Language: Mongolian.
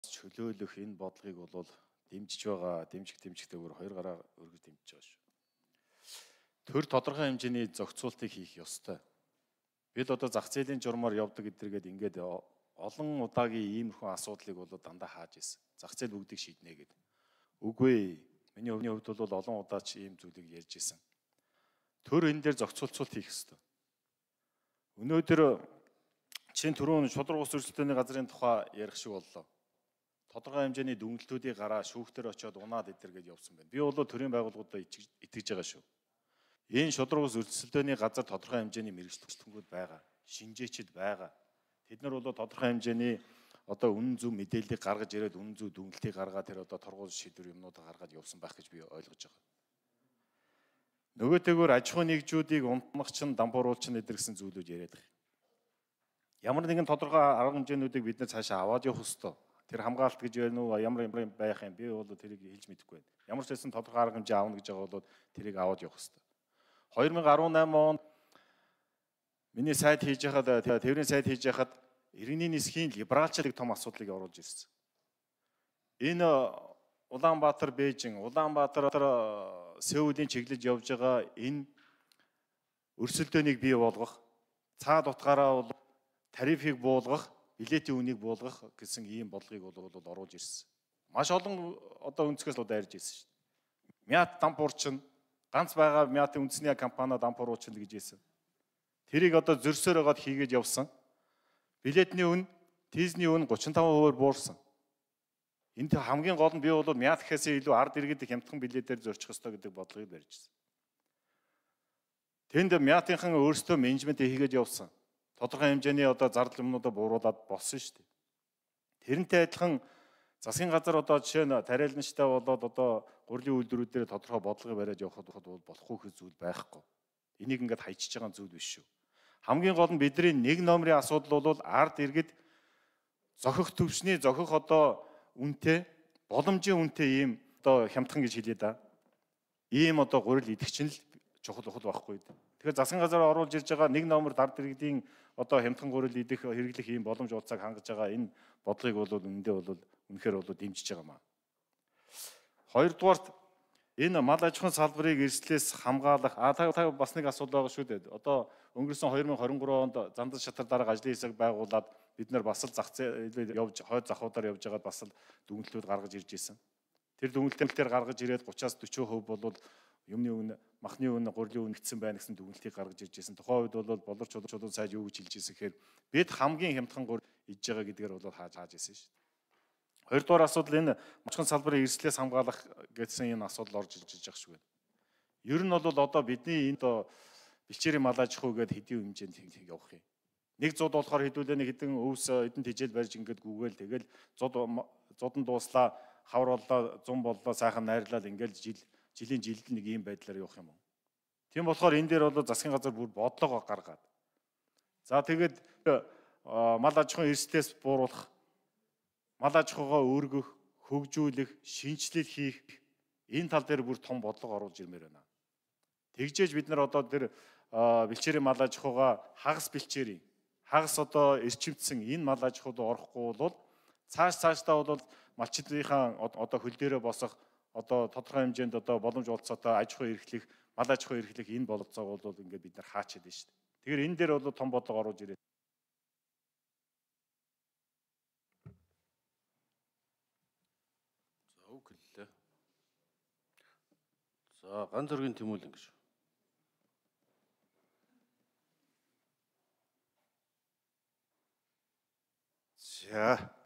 чөлөөлөх энэ бодлогыг бол дэмжиж байгаа, дэмжихтэйгээр хоёр гараа өргөж дэмжиж байгаа шүү. Төр тодорхой хэмжээний зохицуултыг хийх ёстой. Бид одоо зах зээлийн журмаар явдаг гэдэргээд ингээд олон удаагийн иймэрхүү асуудлыг бол дандаа хааж ирсэн. Зах зээл бүгдийг шийднэ гэдэг. Үгүй. Миний хувьд бол олон удаа ч ийм зүйлийг ярьж ирсэн. Төр энэ дээр зохицуулт хийх ёстой. Өнөөдөр чинь түрүүн шудраг ус өрсөлдөөний газрын тухай ярих шиг боллоо. Тодорхой хэмжээний дүгнэлтүүдийг гараа шүүхтэр очиод унаад идэргээд явсан байна. Би бол төрийн байгууллагуудад итгэж байгаа шүү. Энэ шудраг ус өрсөлдөөний газар тодорхой хэмжээний мэргэжлэгчид байгаа. Шинжээчд байгаа. Тэд нар бол тодорхой хэмжээний одоо үнэн зөв мэдээллийг гаргаж ирээд үнэн зөв дүгнэлтийг гаргаад тэр одоо торгуул шийдвэр юмнуудаа гаргаад явсан байх гэж би ойлгож байгаа. Нөгөөтэйгөр аж ахуй нэгжүүдийг унтмах чинь дампууруулч нэдэр гэсэн зүйлүүд яриад байгаа. Ямар нэгэн тодорхой арга хэмжээнүүдийг бид нар цаашаа аваад явах ёстой. Тэр хамгаалалт гэж байна уу, ямар байх юм би бол тэрийг хэлж мэдэхгүй байна. Ямар ч байсан тодорхой арга хэмжээ аавна гэж байгаа бол тэрийг аваад явах ёстой. 2018 онд миний сайт хийж байхад, тэрийн сайт хийж байхад иргэний нисхийн либералчлалыг том асуудлыг оруулж ирсэн. Энэ Улаанбаатар, Бээжин, Улаанбаатар, Сеулийн чиглэж явж байгаа энэ өрсөлдөөнийг бий болгох, цаад утгаараа бол тарифыг буулгах, билетийн үнийг буулгах гэсэн ийм бодлогыг бол оруулж ирсэн. Маш олон одоо өнцгөөс дайрж ирсэн шүү дээ. Мят дампуурчин ганц байгаа мятын үндэсний компани дампууруулчин гэж хэлсэн. Тэрийг одоо зөрсөөр байгаад хийгээд явсан. Билетний үн, тийзний үн 35% буурсан. Энд хамгийн гол нь би бол мят гэхээс илүү ард иргэд хямдхан билетээр зорчих ёстой гэдэг бодлогыг барьжсэн. Тэнд мятынхан өөрсдөө менежмент хийгээд явсан. Тодорхой хэмжээний одоо зардал юмнуудаа бууруулад болсон шүү дээ. Тэрнтэй адилхан засгийн газар одоо жишээ нь тариаланчтай болоод одоо гурилын үйлдвэрүүдээр тодорхой бодлого бариад явахад бол болохгүй хэ зүйл байхгүй. Энийг ингээд хайчиж байгаа зүйл биш шүү. Хамгийн гол нь бидний нэг номерын асуудал бол ард иргэд зохих төвчний зохих одоо үнэтэй, боломжийн үнэтэй ийм одоо хямдхан гэж хэлээ да. Ийм одоо гурил идэвч нь л чухал байхгүй. Тэгэхээр засгийн газар оруулж ирж байгаа нэг номер ард иргэдийн одоо хямдхан гурил идэх хэрэглэх ийм боломж уулзааг хангаж байгаа энэ бодлогыг бол үнэндээ бол үнэхээр бол дэмжиж байгаа маа. Хоёрдугаарт энэ мал аж ахуйн салбарыг эрсдлээс хамгаалах та бас нэг асуудал байгаа шүү дээ. Одоо өнгөрсөн 2023 онд зандал шатар дарга ажлын хэсэг байгуулад бид нар бас л зах зээл явж хойд захуудаар явж байгаад бас л дүгнэлтүүд гаргаж ирж байсан. Тэр дүгнэлтээр гаргаж ирээд 30-аас 40% бол юмны үн, махны үн, гурилын үн гэсэн байна гэсэн дүгнэлтийг гаргаж ирж байсан. Тухайн үед бол боловч чулуун сайд юу гэж хэлж ирсэн гэхээр бид хамгийн хямдхан гурил идж байгаа гэдгээр бол хааж ирсэн шүү дээ. Хоёрдугаар асуудал энэ аж ахуйн салбарын эрсдлээс хамгаалах гэсэн энэ асуудал орж иж байгаа шүү байна. Ер нь бол одоо бидний энэ бэлчээрийн мал аж ахуй гэдэг хэдийн хэмжээнд явах юм. Нэг зууд болохоор хэдүүлээ нэг хэдэн өвс эдэн тижэл барьж ингээд гүгээл тэгэл зуд нь дууслаа, хавар боллоо, зун боллоо, сайхан найрлал ингээд жилийн жилд нэг ийм байдлаар явах юм уу. Тийм болохоор энэ дээр бол засгийн газар бүр бодлого гаргаад. За тэгээд мал аж ахуйн эрсдлээс бууруулах, мал аж ахуйгаа өргөх, хөгжүүлэх, шинжилэл хийх энэ тал дээр бүр том бодлого оруулж ирмээр байна. Тэгжээж бид нар одоо тэр бэлчээрийн мал аж ахуйгаа хагас одоо эрчимдсэн энэ мал аж ахуйд орохгүй бол цаашдаа бол малчдынхаа одоо хөл дээрээ босох одоо тодорхой хэмжээнд одоо боломж олцоотой аж ахуй эрхлэх, мал аж ахуй эрхлэх энэ бололцоог бол ингээд бид нар хаачаад байна шүү дээ. Тэгэхээр энэ дээр бол том бодлого оруулж ирээд. За үгэлээ. За ганц зөргийн тэмүүлэн гэж. За